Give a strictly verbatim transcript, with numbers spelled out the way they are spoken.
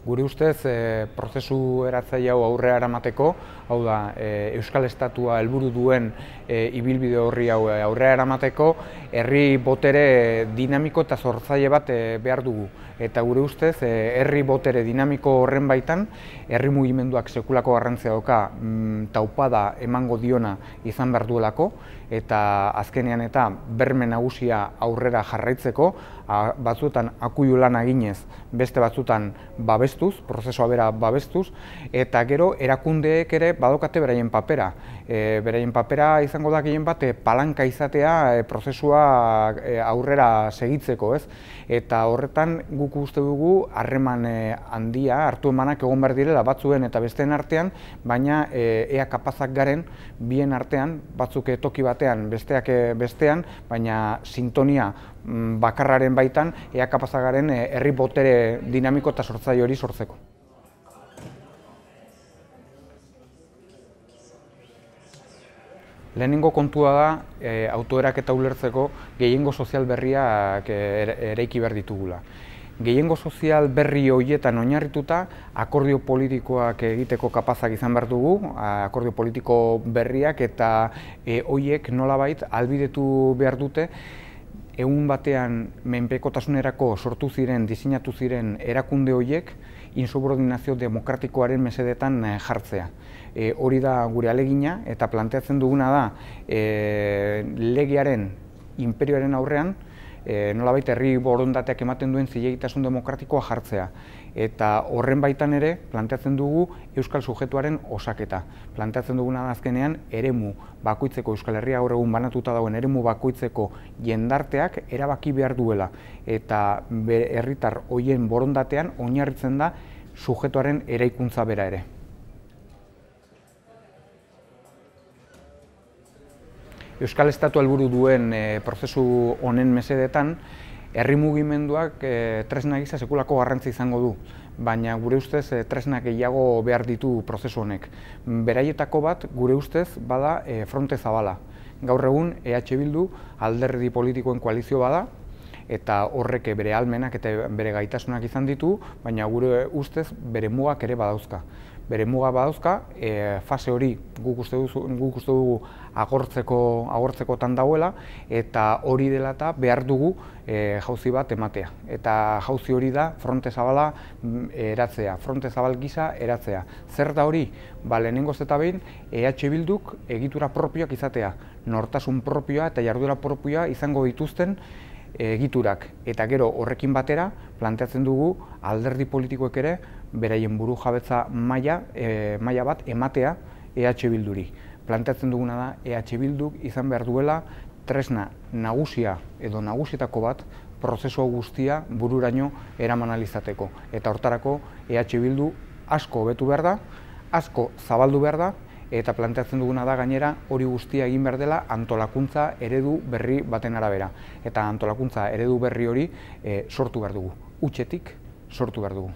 Gure ustez, e, prozesu eratzaile hau aurrera eramateko, hau da, e, Euskal Estatua helburu duen e, ibilbide horri hau aurrera eramateko, herri botere dinamiko eta sortzaile bat e, behar dugu. Eta gure ustez, e, herri botere dinamiko horren baitan, herri mugimenduak sekulako garrantzia dauka mm, taupada emango diona izan behar duelako, eta azkenean eta berme nagusia aurrera jarraitzeko, a, batzuetan akuilu lan eginez, beste batzuetan babestuz, prozesua bera babestuz, eta gero erakundeek ere badokate beraien papera. E, beraien papera izango da gehien bat e, palanka izatea e, prozesua e, aurrera segitzeko, ez? Eta horretan guk uste dugu harreman e, handia, hartu emanak egon behar direla batzuen eta besteen artean, baina e, ea kapazak garen bien artean, batzuk toki batean, besteak bestean, baina sintonia bakarraren baitan, ea kapazak garen herri botere dinamiko eta sortzaile hori sortzeko. Lehenengo kontua da, e, autoeraketa ulertzeko gehiengo sozial berriak eraiki behar ditugula. Gehiengo sozial berri horietan oinarrituta, akordio politikoak egiteko kapazak izan behar dugu, akordio politiko berriak eta e, horiek nolabait ahalbidetu behar dute, egun batean menpekotasunerako sortu ziren, diseinatu ziren erakunde horiek insubordinazio demokratikoaren mesedetan jartzea. E, hori da gure ahalegina eta planteatzen duguna da e, legearen, inperioaren aurrean, e, nolabait herri borondateak ematen duen zilegitasun demokratikoa jartzea. Eta horren baitan ere planteatzen dugu euskal sujetuaren osaketa. Planteatzen duguna da azkenean eremu bakoitzeko, Euskal Herria gaur egun banatuta dagoen eremu bakoitzeko jendarteak erabaki behar duela. Eta herritar horien borondatean oinarritzen da sujetuaren eraikuntza bera ere. Euskal Estatua helburu duen e, prozesu honen mesedetan, herri mugimenduak e, tresna gisa sekulako garrantzi izango du, baina gure ustez e, tresna gehiago behar ditu prozesu honek. Beraietako bat, gure ustez, bada e, fronte zabala. Gaur egun, E H Bildu alderdi politikoen koalizio bada, eta horrek bere ahalmenak eta bere gaitasunak izan ditu, baina gure ustez bere mugak ere badauzka. Bere muga badauzka, e, fase hori guk uste dugu, guk uste dugu agortzeko, agortzekotan dagoela, eta hori dela eta behar dugu e, jauzi bat ematea. Eta jauzi hori da fronte zabala eratzea, fronte zabal gisa eratzea. Zer da hori? Ba, lehenengoz eta behin, E H Bilduk egitura propioak izatea, nortasun propioa eta jarduera propioa izango dituzten egiturak. Eta gero horrekin batera planteatzen dugu alderdi politikoek ere beraien buru jabetza maila, e, maila bat ematea E H Bilduri. Planteatzen duguna da E H Bilduk izan behar duela tresna nagusia edo nagusietako bat prozesu guztia bururaino eraman ahal izateko. Eta hortarako E H Bildu asko hobetu behar da, asko zabaldu behar da, eta planteatzen duguna da gainera hori guztia egin behar dela antolakuntza eredu berri baten arabera. Eta antolakuntza eredu berri hori e, sortu behar dugu, hutsetik sortu behar dugu.